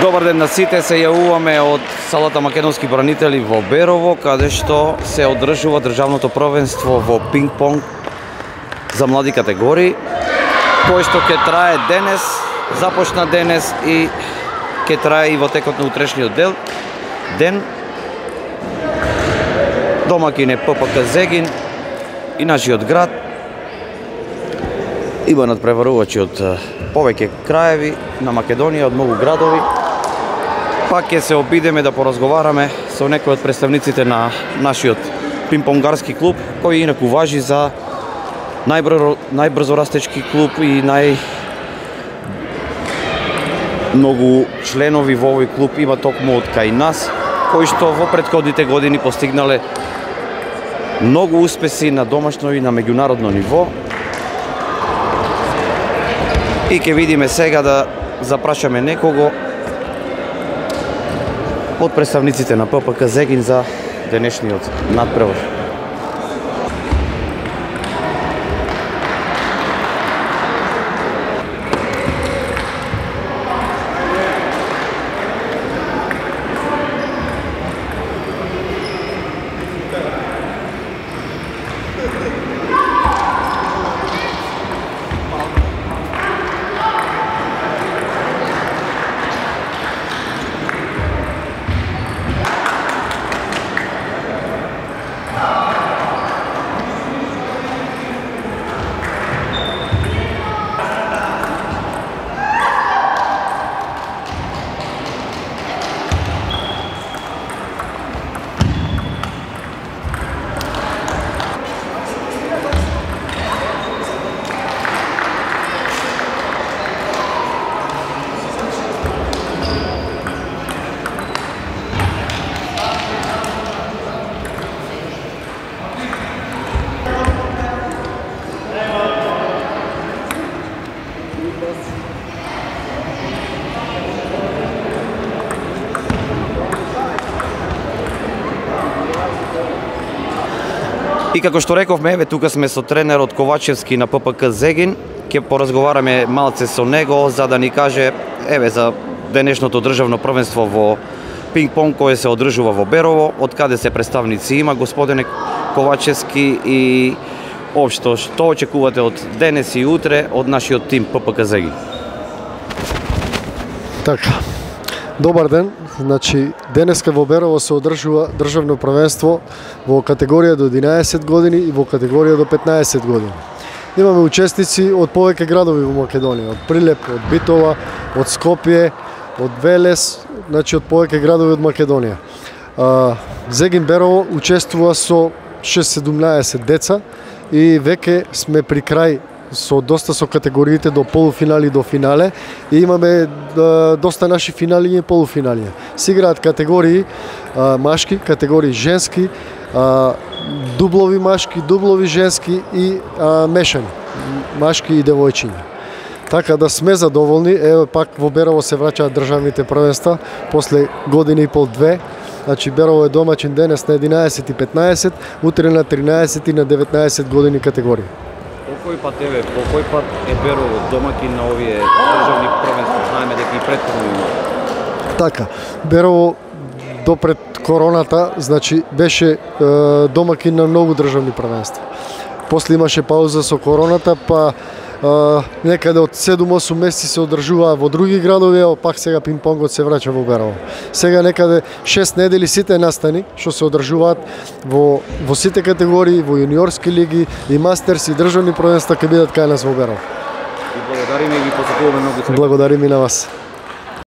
Добар ден на сите, се јавуваме од салата Македонски бранители во Берово, каде што се одржува државното првенство во пинг-понг за млади категории, кој што ќе трае денес, започна денес и ќе трае и во текот на утрешниот ден. Домакин е ППК Зегин и нашиот град. Има надпреварувачи од повеќе краеви на Македонија, од многу градови. Пак ќе се обидеме да поразговараме со некои од представниците на нашиот пинг-понгарски клуб, кој инаку важи за најбрзо растечки клуб и многу членови во овој клуб има токму од кај нас, кои што во претходните години постигнале многу успеси на домашно и на меѓународно ниво. И ќе видиме сега да запрашаме некого од представниците на ППК Зегин за денешниот надпревар. И како што рековме, еве тука сме со тренерот Ковачевски на ППК Зегин. Ќе поразговараме малце со него за да ни каже еве за денешното државно првенство во пинг-понг кое се одржува во Берово, од каде се представници има господине Ковачевски и општо што очекувате од денес и утре од нашиот тим ППК Зегин. Така. Добар ден. Значи, денеска во Берово се одржува државно првенство во категорија до 11 години и во категорија до 15 години. Имаме учесници од повеќе градови во Македонија, од Прилеп, од Битола, од Скопје, од Велес, значи од повеќе градови од Македонија. Зегин Берово учествува со 6-17 деца и веќе сме при крај доста со категориите до полуфинали до финале и имаме доста наши финали и полуфинали. Се играат категории машки, категории женски, дублови машки, дублови женски и мешани, машки и девојчиња. Така да сме задоволни, еве пак во Берово се враќаат државните првенства после година и пол две. Значи Берово е домаќин денес на 11 и 15, утре на 13 и на 19 години категории. По кој пат е Берово домакин на овие државни првенства? Знаеме дека и претходно има. Така, Берово до пред короната, значи беше домакин на многу државни првенства. После имаше пауза со короната, па некаде од 7-8 месеци се одржуваа во други градови, а пак сега пинг-понгот се враќа во Берово. Сега некаде 6 недели сите настани што се одржуваат во сите категории, во јуниорски лиги и мастерс и државни првенства ќе бидат кај нас во Берово. И благодариме и ги посакуваме многу среќа. Благодариме на вас.